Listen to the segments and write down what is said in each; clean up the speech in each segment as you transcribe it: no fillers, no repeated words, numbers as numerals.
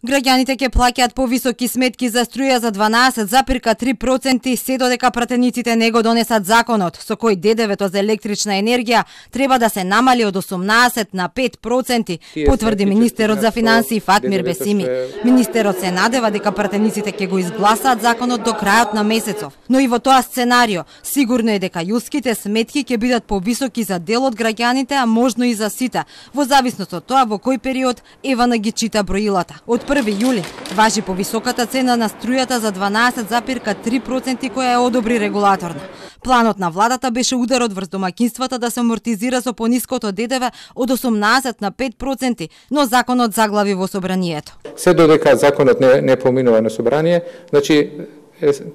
Граѓаните ќе плаќаат повисоки сметки за струја за 12,3% се додека пратениците не го донесат законот со кој ДДВ-то за електрична енергија треба да се намали од 18 на 5%, потврди министерот за финансии Фатмир Бесими. Министерот се надева дека пратениците ќе го изгласаат законот до крајот на месецов, но и во тоа сценарио сигурно е дека јуските сметки ќе бидат повисоки за дел од граѓаните, а можно и за сите, во зависност од тоа во кој период Евана ги чита броилата. Од 1 јули важи повисоката цена на струјата за 12,3% која е одобри регулаторно. Планот на владата беше ударот врз домаќинствата да се амортизира со пониското ДДВ од 18 на 5%, но законот заглави во собранието. Се додека законот не поминува на собрание, значи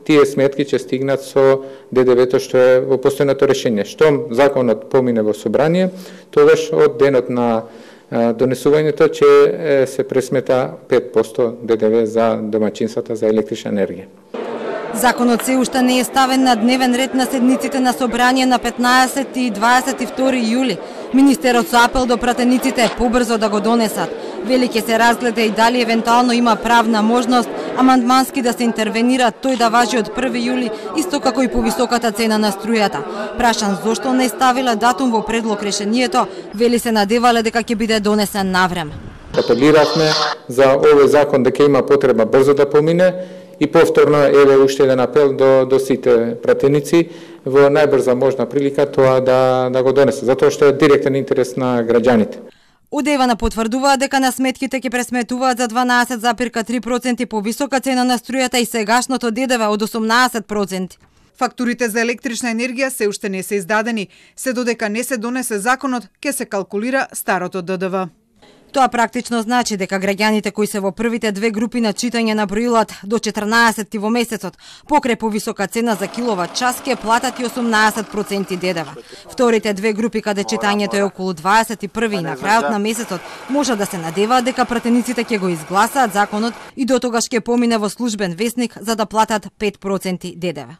тие сметки ќе стигнат со ДДВ-то што е во постојното решение. Штом законот помине во собрание, тогаш од денот на донесувањето ќе се пресмета 5% ДДВ за домаќинствата за електрична енергија. Законот се уште не е ставен на дневен ред на седниците на собрание на 15 и 22 јули. Министерот со апел до пратениците побрзо да го донесат. Вели ќе се разгледа и дали евентуално има правна можност амандмански да се интервенира тој да важи од 1 јули, исто како и повисоката цена на струјата. Прашан зошто не ставила датум во предлог решението, вели се надевале дека ќе биде донесен навреме. Апелиравме за овој закон дека има потреба брзо да помине и повторно еве уште еден апел до сите пратеници во најбрза можна прилика тоа да го донесе, затоа што е директен интерес на граѓаните. Од Евана потврдуваат дека на сметките ќе пресметуваат за 12,3% повисока цена на струјата и сегашното ДДВ од 18%. Фактурите за електрична енергија се уште не се издадени, се додека не се донесе законот, ќе се калкулира старото ДДВ. Тоа практично значи дека граѓаните кои се во првите две групи на читање на броилат до 14 во месецот, покрај повисока цена за киловат час ќе платат и 18% ДДВ. Вторите две групи каде читањето е околу 21 и на крајот на месецот може да се надеваат дека пратениците ќе го изгласаат законот и дотогаш ќе помине во службен весник за да платат 5% ДДВ.